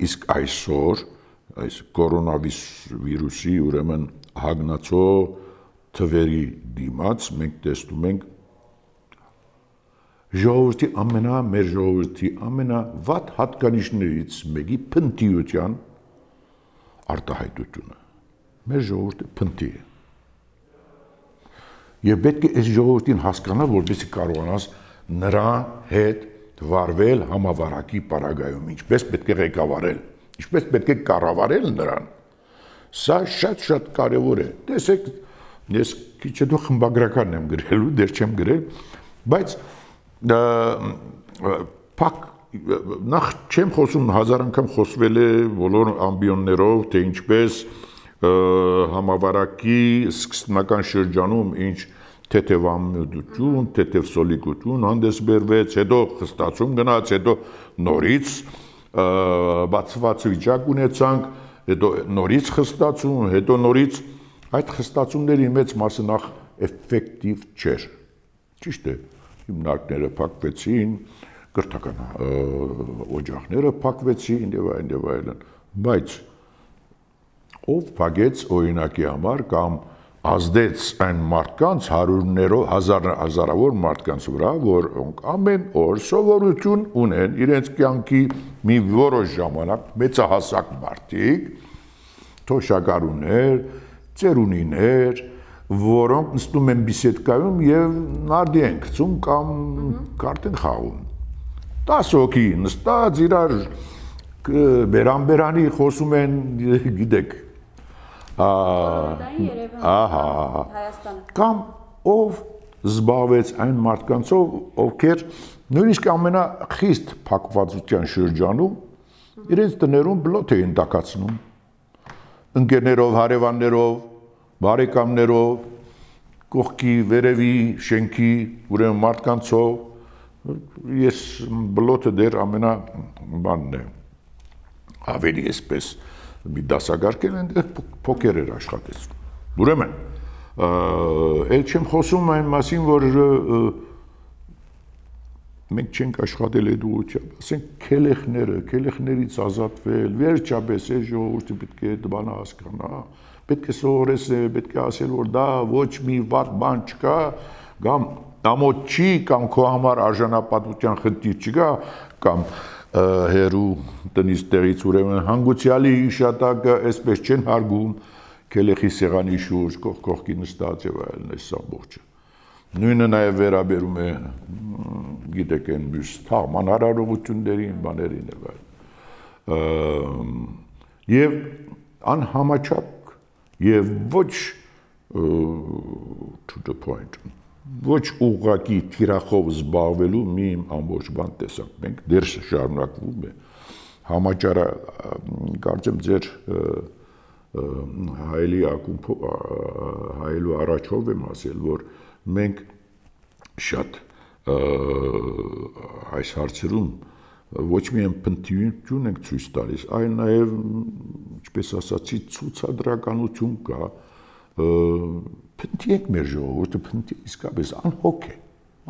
Իսկ այսօր այս կորոնավիրուսի ուրեմն հագնացո թվերի դիմաց մենք տեսնում ենք մեր ժողովրդի ամենավատ հատկանիշներից մեկի փնտիության արտահայտությունը։ Մեր ժողովուրդը փնտի է։ Եվ պետք է այս ժողովրդին հասկանալ, որպեսզի կարողանաս նրա հետ վարվել համավարակի պարագայում, ինչպես պետք է ղեկավարել, ինչպես պետք է կառավարել նրան։ Սա շատ կարևոր է։ Տեսեք, ես քիչ հետո խմբագրականն եմ գրելու, դեռ չեմ գրել, բայց նախ չեմ խոսում, հազար անգամ խոսվել է բոլոր ամբիոններով, թե ինչպես համավարակի սկզբնական շրջանում ինչ թեթևամտություն, թեթև սոլիկություն հանդես բերվեց, հետո խստացում գնաց, հետո նորից բացված վիճակ ունեցանք, հետո նորից խստացում, հետո նորից այդ խստացումների մեծ մասը նախ էֆեկտիվ չէր։ Ճիշտ է, հիմնարկները փակվեցին, կրթական օջախները փակվեցին եւ այլն, բայց ով փակեց օրինակի համար կամ ազդեց այն մարդկանց հազարավոր մարդկանց վրա, որոնք ամեն օր սովորություն ունեն իրենց կյանքի մի որոշ ժամանակ մեծահասակ մարդիկ, թոշակառուներ, ծերունիներ, որոնք նստում են բիսեդկայում եւ նարդի են գցում կամ կարտ են խաղում։ 10 հոգի նստած իրար բերանբերանի խոսում են, գիտեք, կամ ով զբաղվեց այն մարդկանցով, ովքեր նույնիսկ ամենախիստ փակվածության շրջանում իրենց տներում բլոթ էին տակացնում, ընկերներով, հարևաններով, բարեկամներով, կողքի, վերևի, շենքի, ուրեմն մարդկանցով, ես բլոթը դեռ ամենաբանն է, ավելի այսպես մի դասակարգել են, փոքր էր աշխատեցնում։ Ուրեմն, էլ չեմ խոսում այն մասին, որ մենք չենք աշխատել այդ ուղղությամբ, ասենք քելեխներից ազատվել, վերջապես այս ժողովուրդը պետք է այդ բանը հասկանա, պետք է սովորեցնել, պետք է ասել, որ դա ոչ մի վատ բան չկա, կամ ամոթ չի, կամ քո համար արժանապատվության խնդիր չկա, կամ հերու տնից տեղից ուրեմն հանգուցյալի իշատակը այսպես չեն հարգում, քելեխի սեղանի շուրջ կողքի նստած եւ այլն, այս ամբողջը։ Նույնը նաեւ վերաբերում է, գիտեք, այն մյուս թաղման հարարողություններին, բաներին եւ այլն։ Եվ անհամաչափ եւ ոչ to the point, ոչ ուղղակի թիրախով զբաղվելու մի ամբողջ բան տեսանք, մենք դեռ շարունակվում է, համաճարը, կարծեմ ձեր հայելու առաջով եմ ասել, որ մենք շատ այս հարցերում ոչ միայն փնտիություն ենք ցույց տալիս, այլ նաև, ինչպես ասացի, ցուցադրականություն կա, փնտի ենք մեր ժողովուրդը, փնտի իսկապես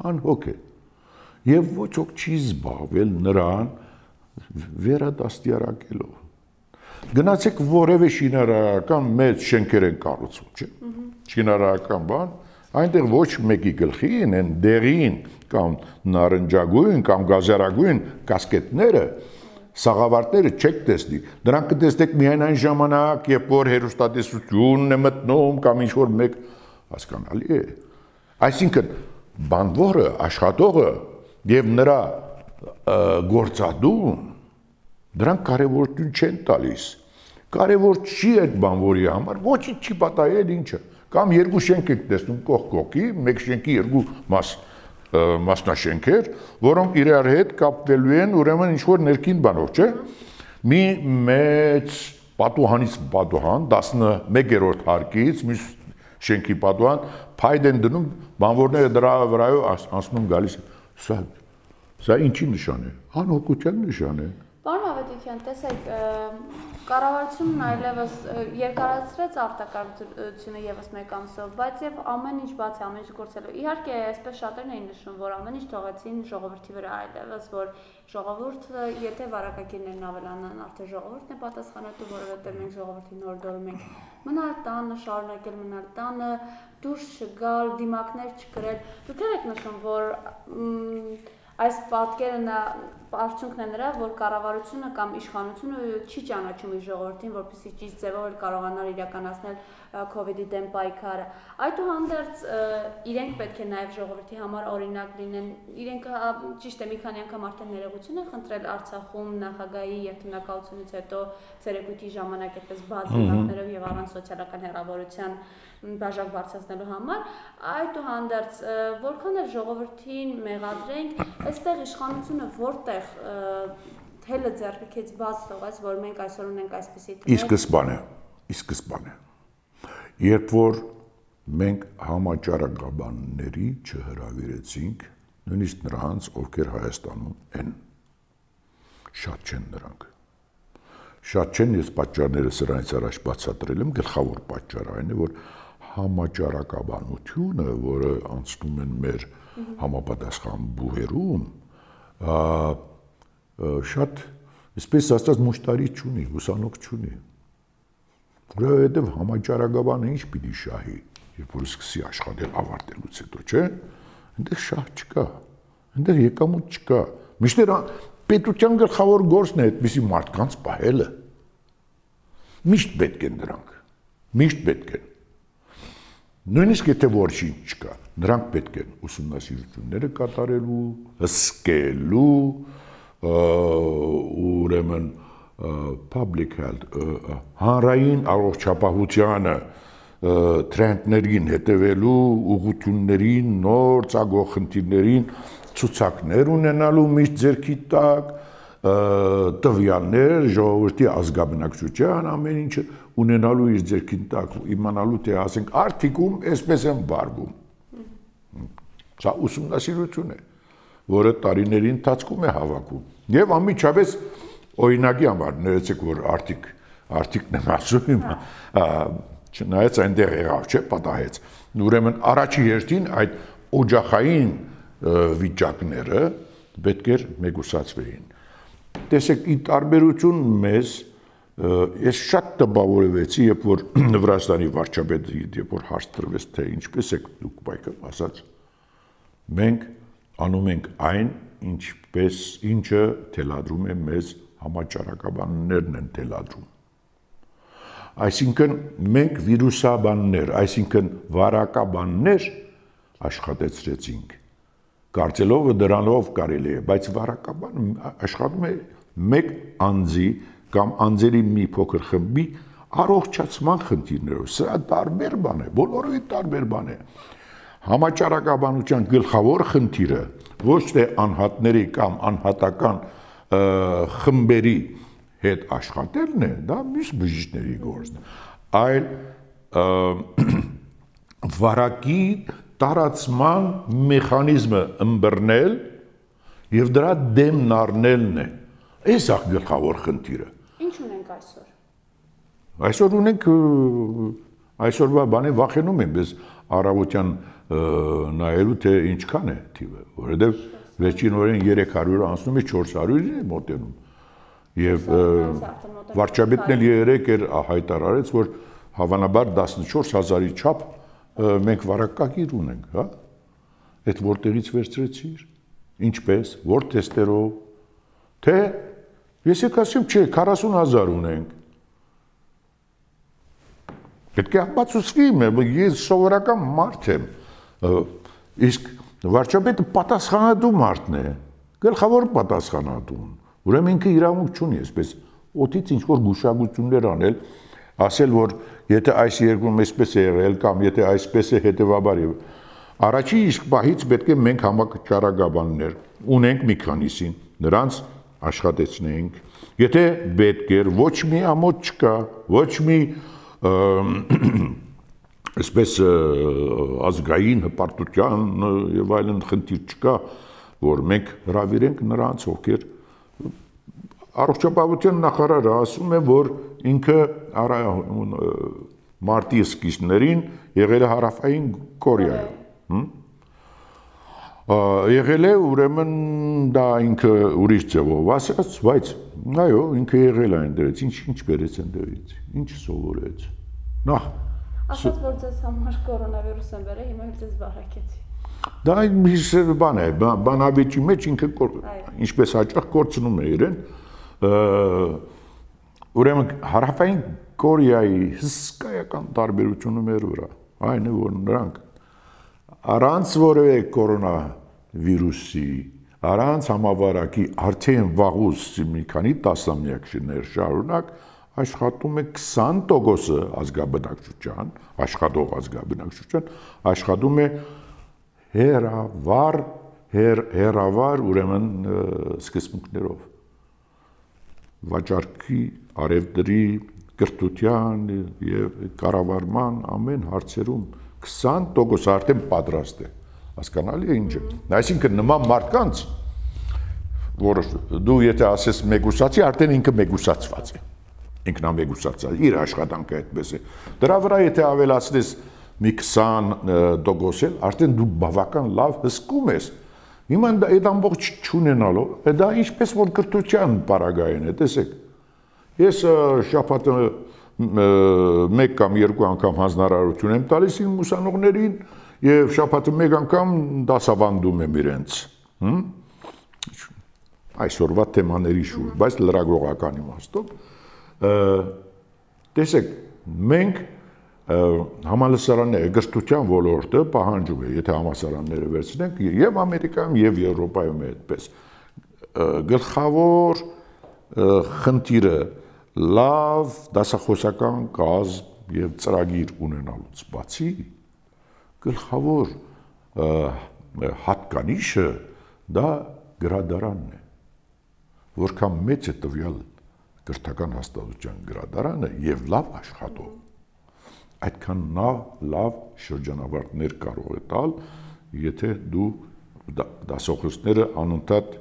անհոգ է, եւ ոչ ոք չի զբաղվել նրան վերադաստիարակելով։ Գնացեք որևէ շինարարական մեծ շենքեր են կառուցում, չէ՞։ Շինարարական բան, այնտեղ ոչ մեկի գլխին են դեղին կամ նարնջագույն կամ գազարագույն կասկետները, սաղավարտները չեք տեսնի։ Դրանք կտեսնեք միայն այն ժամանակ, երբ որ հեռուստատեսությունն է մտնում կամ ինչ-որ մեկ, հասկանալի է։ Այսինքն բանվորը, աշխատողը եւ նրա գործադուն դրանք կարևորություն չեն տալիս։ Կարևոր չի այդ բանվորի համար, ոչինչ չի պատահել ինչը։ Կամ երկու շենք եք տեսնում կողքի, մեկ շենքի երկու մասնաշենքեր, որոնք իրար հետ կապվելու են ուրեմն ինչ-որ ներքին բանով, չէ՞։ Մի մեծ պատուհանից պատուհան, 11-րդ հարկից, մյուս շենքի պատուհան, փայտ են դնում, բանվորները դրա վրայով անցնում գալիս։ Սա ինչի նշան է։ Անհոգության նշան է։ Պարոն Ավետիքյան, տեսեք, կառավարությունն այլևս երկարացրեց արտակարգությունը եւս մեկ ամսով, բայց եւ ամեն ինչ բացի ամեն ինչ գործելու։ Իհարկե, այսպես շատերն էին նշում, որ ամեն ինչ թողեցին ժողովրդի վրա այլևս, որ ժողովուրդը, եթե վարակագիրներն ավելանան, արդեն ժողովուրդն է պատասխանատու, որովհետեւ մենք ժողովրդին հորդորում ենք մնալ տանը, շարունակել մնալ տանը, դուրս չգալ, դիմակներ չկրել։ Դուք եք նշում, որ այս պատկերը արդյունքն է նրա, որ կառավարությունը կամ իշխանությունը չի ճանաչում իր ժողովրդին, որպեսզի ճիշտ ձևով կարողանար իրականացնել COVID-ի դեմ պայքարը։ Այդուհանդերձ իրենք պետք է նաև ժողովրդի համար օրինակ լինեն։ Իրենք ճիշտ է մի քանի անգամ արդեն ներողություն են խնդրել Արցախում նախագահի երթունակությունից հետո ցերեկույթի ժամանակ այդպես բաց դիմակներով եւ առանց սոցիալական հեռավորության բաժակ բարձրացնելու համար, այդուհանդերձ որքան էլ ժողովրդին մեղադրենք, այստեղ իշխանությունը որտեղ թելը ձեռքից բաց թողած, որ մենք այսօր ունենք այսպիսի թել։ Ի սկզբանե, երբ որ մենք համաճարակաբանների չհրավիրեցինք, նույնիսկ նրանց, ովքեր Հայաստանում են, շատ չեն նրանք։ Շատ չեն, ես պատճառները սրանից առաջ բացատրել եմ, գլխավոր պատճառը այն է, որ համաճարակաբանությունը, որը անցնում են մեր համապատասխան բուհերում, շատ, այսպես ասած, մուշտարի չունի, ուսանող չունի։ Որովհետև համաճարակաբանը ինչ պիտի շահի, երբ որ սկսի աշխատել ավարտելուց հետո, չէ՞։ Այնտեղ շահ չկա, այնտեղ եկամուտ չկա։ Միշտ պետության գլխավոր գործն է այդպիսի մարդկանց պահելը։ Միշտ պետք են դրանք, միշտ պետք են։ Նույնիսկ եթե ոչինչ չկա, նրանք պետք են ուսումնասիրությունները կատարելու, հսկելու, ուրեմն public health, հանրային առողջապահությանը թրենդներին հետևելու, ուղղություններին, նոր ծագող խնդիրներին ցուցակներ ունենալու միշտ ձեռքի տակ, տվյալներ, ժողովրդի ազգաբնակչության ամեն ինչը ունենալու իր ձեռքին տակ, իմանալու թե ասենք արդիկում այսպես են վարվում։ Սա ուսումնասիրություն է, որը տարիների ընթացքում է հավաքում։ Եվ անմիջապես օրինակի համար ներեցեք, որ արդիկն եմ ասում, չնայած այնտեղ եղավ, չէ, պատահեց։ Ուրեմն առաջի հերթին այդ օջախային վիճակները պետք էր մեգուսացվեին։ Տեսեք, ի տարբերություն մեզ, ես շատ տպավորվեցի, երբ որ Վրաստանի վարչապետը, երբ որ հարց տրվեց, թե ինչպես եք դուք պայքարում, ասաց, մենք անում ենք այն, ինչը թելադրում է մեզ համաճարակաբաններն են թելադրում։ Այսինքն մենք վիրուսաբաններ, այսինքն վարակաբաններ աշխատեցրեցինք, կարծելով դրանով կարելի է, բայց վարակաբան աշխատում է մեկ անձի կամ անձերի մի փոքր խմբի առողջացման խնդիրներով, սա տարբեր բան է, բոլորովին տարբեր բան է։ Համաճարակաբանության գլխավոր խնդիրը ոչ թե անհատների կամ անհատական խմբերի հետ աշխատելն է, դա մյուս բժիշկների գործն է, այլ վարակի տարածման մեխանիզմը ըմբռնել եւ դրա դեմն առնելն է։ Այս է գլխավոր խնդիրը։ Ինչ ունենք այսօր։ Այսօր ունենք այսօրվա բանը վախենում եմ, ես առավոտյան նայելու թե ինչքան է թիվը, որովհետեւ վերջին օրերին 300-ը անցնում է 400-ին է մոտենում։ Եվ վարչապետն էլ երեք էր հայտարարեց, որ հավանաբար 14000-ի չափ մենք վարակագիր ունենք, հա։ Այդ որտեղից վերցրեցիր, ինչպես, որ թեստերով, թե ես եք ասեմ, չէ, 40000 ունենք։ Պետք է ապացուցվի, ես սովորական մարդ եմ, իսկ վարչապետը պատասխանատու մարդն է, գլխավոր պատասխանատուն, ուրեմն ինքը իրավունք չունի, այսպես օդից ինչ-որ գուշակություններ անել, ասել, որ եթե այս երկրում այսպես է եղել կամ եթե այսպես է հետևաբար եւ առաջի իսկ պահից պետք է մենք համաճարակաբաններ ունենք մի քանիսին, նրանց աշխատեցնենք, եթե պետք էր, ոչ մի ամոթ չկա, ոչ մի այսպես ազգային հպարտության եւ այլն խնդիր չկա, որ մենք հրավիրենք նրանց, ովքեր Առողջապահության նախարարը ասում է, որ ինքը մարտի սկիզբներին եղել է Հարավային Կորեայում։ Եղել է, ուրեմն դա ինքը ուրիշ ձևով ասաց, բայց այո, ինքը եղել է այնտեղից, ինչ բերեց այնտեղից, ինչ սովորեց։ Նախ ասաց, որ ձեզ համար կորոնավիրուս են բերել, հիմա ձեզ վարակեցի։ Դա մի բան է, բանավեճի մեջ ինքը ինչպես հաճախ կորցնում է իրեն, ուրեմն Հարավային Կորեայի հսկայական տարբերությունը մեր վրա, այն է, որ նրանք առանց որևէ կորոնավիրուսի, առանց համավարակի արդեն վաղուց մի քանի տասնամյակներ շարունակ աշխատում է 20% ազգաբնակչության, աշխատող ազգաբնակչության, աշխատում է հերավար ուրեմն սկզբունքներով վաճառքի, արևտրի, կրթության եւ կառավարման ամեն հարցերում 20% արդեն պատրաստ է, հասկանալի է ինչը։ Այսինքն նման մարդկանց, որ դու եթե ասես մեգուսացի, արդեն ինքը մեգուսացված է, ինքնամեգուսացած, իր աշխատանքը այդպես է։ Դրա վրա եթե ավելացնես մի 20% էլ, արդեն դու բավական լավ հսկում ես։ Հիմա այդ ամբողջ չունենալով, դա ինչպես որ կրթության պարագային է, տեսեք։ Ես շաբաթը մեկ կամ երկու անգամ հանձնարարություն եմ տալիս իմ ուսանողներին եւ շաբաթը մեկ անգամ դասավանդում եմ իրենց։ Այսօրվա թեմաների շուրջ, բայց լրագրողական իմաստով։ Տեսեք, մենք համալսարանները կրթության ոլորտը պահանջում է, եթե համալսարանները վերցնենք եւ Ամերիկայում եւ Եվրոպայում է այդպես։ Գլխավոր խնդիրը լավ դասախոսական կազմ եւ ծրագիր ունենալուց բացի գլխավոր հատկանիշը դա գրադարանն է, որքան մեծ է տվյալ կրթական հաստատության գրադարանը եւ լավ աշխատող, այդքան լավ շրջանավարտներ կարող է տալ, եթե դու դասախոսները անընդհատ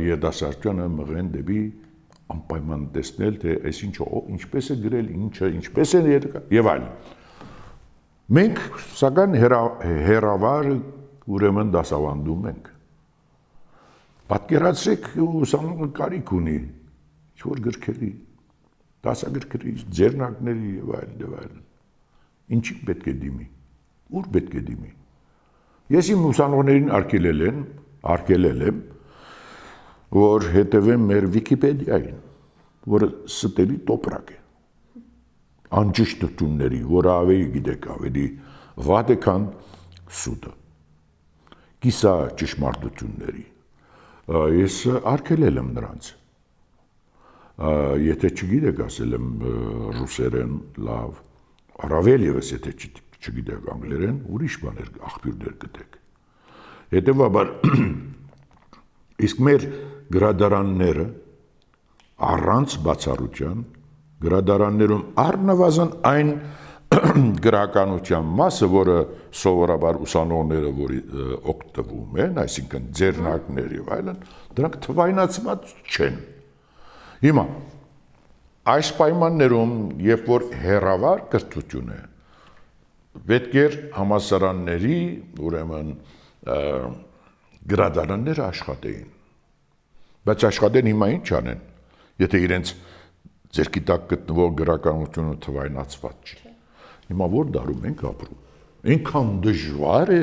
երդասարտությունը մղեն դեպի անպայման տեսնել, թե այս ինչը ինչպես է գրել, ինչը ինչպես է եւ այլն։ Մենք սակայն հերավար ուրեմն դասավանդում ենք։ Պատկերացրեք ուսանողը կարիք ունի ինչ-որ գրքերի, դասագրքերի, ձեռնարկների եւ այլն։ Ինչի պետք է դիմի, ուր պետք է դիմի։ Ես իմ ուսանողներին արգելել եմ, որ հետևեմ մեր Վիկիպեդիային, որը ստելի տոպրակ է, անճշտությունների, որը ավելի գիտեք, ավելի վատ է, քան սուտը, կիսա ճշմարտությունների։ Ես արգելել եմ նրանց։ Եթե չգիտեք, ասել եմ ռուսերեն լավ, առավել ևս եթե չգիտեք անգլերեն, ուրիշ բաներ աղբյուրներ գտեք։ Հետևաբար իսկ մեր գրադարանները առանց բացառության գրադարաններում առնվազն այն գրականության մասը, որը սովորաբար ուսանողները որի օգտվում են, այսինքն ձեռնարկներ եւ այլն, դրանք թվայնացված չեն։ Հիմա այս պայմաններում, երբ որ հերավար կրթություն է, պետք է համալսարանների, ուրեմն գրադարանները աշխատեին։ Բայց աշխատեն հիմա ինչ անեն, եթե իրենց ձերքի տակ գտնվող գրականությունը թվայնացված չի։ Հիմա որ դարում ենք ապրում։ Այնքան դժվար է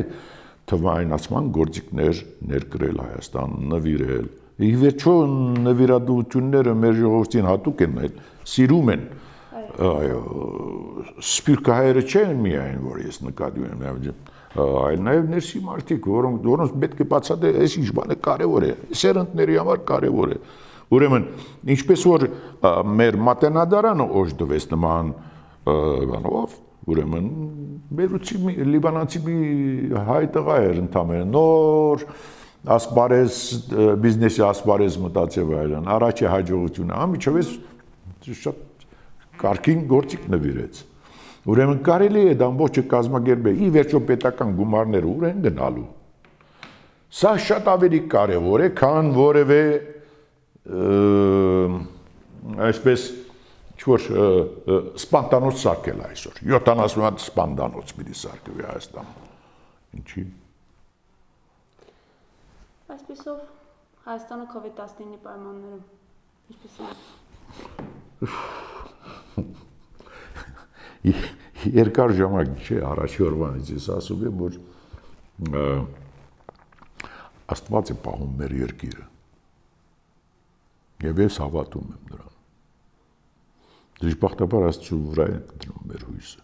թվայնացման գործիքներ ներկրել Հայաստան, նվիրել։ Ի վերջո նվիրատվությունները մեր ժողովրդին հատուկ են, սիրում են։ Այո, սփյուռքահայերը չեն միայն, որ ես նկատի ունեմ, այլ նաև ներսի մարդիկ, որոնց պետք է բացատրել, այս ինչ բանը կարևոր է, սերնդների համար կարևոր է։ Ուրեմն, ինչպես որ մեր մատենադարանը օժտվեց նման բանով, ուրեմն բերուցի լիբանանցի մի հայ տղա էր ընդամենը նոր ասպարեզ բիզնեսի ասպարեզ մտածել այլն, առաջի հաջողությունը, ամիջովես շատ կարգին գործիք նվիրեց։ Ուրեմն կարելի է դա ամբողջը կազմակերպել, ի վերջո պետական գումարները ուր են գնալու։ Սա շատ ավելի կարևոր է, քան որևէ այսպես ինչ-որ սպանդանոց սարքել այսօր 70 հատ սպանդանոց պիտի սարքվի Հայաստանում ինչի Այսպեսով Հայաստանը COVID-19-ի պայմաններում ինչպես է երկար ժամանակ չէ առաջի օրվանից ես ասում եմ որ Աստված է պահում մեր երկիրը եւ ես հավատում եմ նրան Դժբախտաբար Աստծո վրա է դնում մեր հույսը